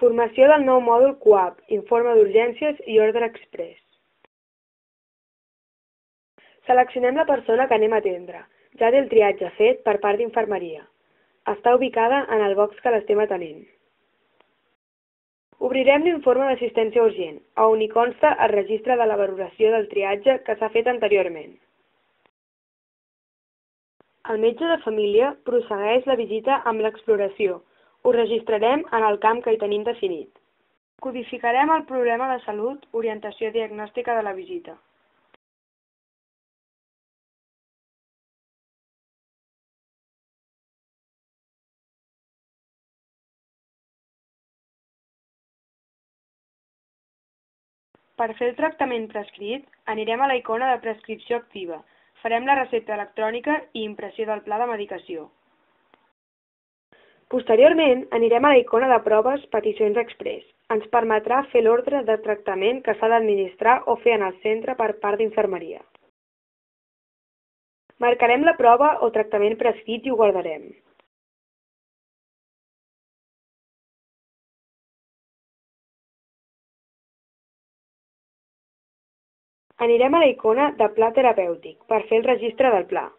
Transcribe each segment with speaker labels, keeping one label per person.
Speaker 1: Formació del nou mòdul CUAP, informe d'urgències i ordre exprés. Seleccionem la persona que anem a atendre. Ja té el triatge fet per part d'infermeria. Està ubicada en el box que l'estem atenent. Obrirem l'informe d'assistència urgent, on hi consta el registre de la valoració del triatge que s'ha fet anteriorment. El metge de família prossegueix la visita amb l'exploració. Ho registrarem en el camp que hi tenim definit. Codificarem el problema de salut, orientació diagnòstica de la visita. Per fer el tractament prescrit, anirem a la icona de prescripció activa. Farem la recepta electrònica i impressió del pla de medicació. Posteriorment, anirem a la icona de proves peticions exprés. Ens permetrà fer l'ordre de tractament que s'ha d'administrar o fer en el centre per part d'infermeria. Marcarem la prova o tractament prescrit i ho guardarem. Anirem a la icona de pla terapèutic per fer el registre del pla.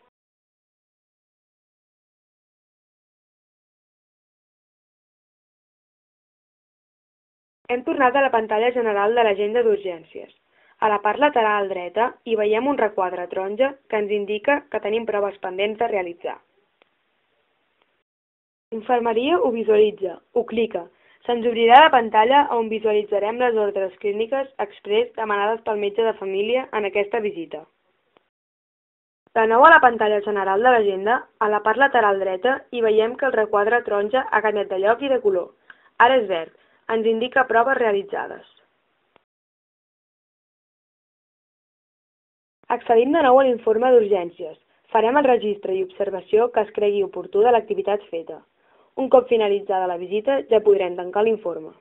Speaker 1: Hem tornat a la pantalla general de l'agenda d'urgències. A la part lateral dreta hi veiem un requadre taronja que ens indica que tenim proves pendents de realitzar. Infermeria ho visualitza, ho clica. Se'ns obrirà la pantalla on visualitzarem les ordres clíniques exprés demanades pel metge de família en aquesta visita. De nou a la pantalla general de l'agenda, a la part lateral dreta, hi veiem que el requadre taronja ha canviat de lloc i de color. Ara és verd, ens indica proves realitzades. Accedim de nou a l'informe d'urgències. Farem el registre i observació que es cregui oportú de l'activitat feta. Un cop finalitzada la visita, ja podrem tancar l'informe.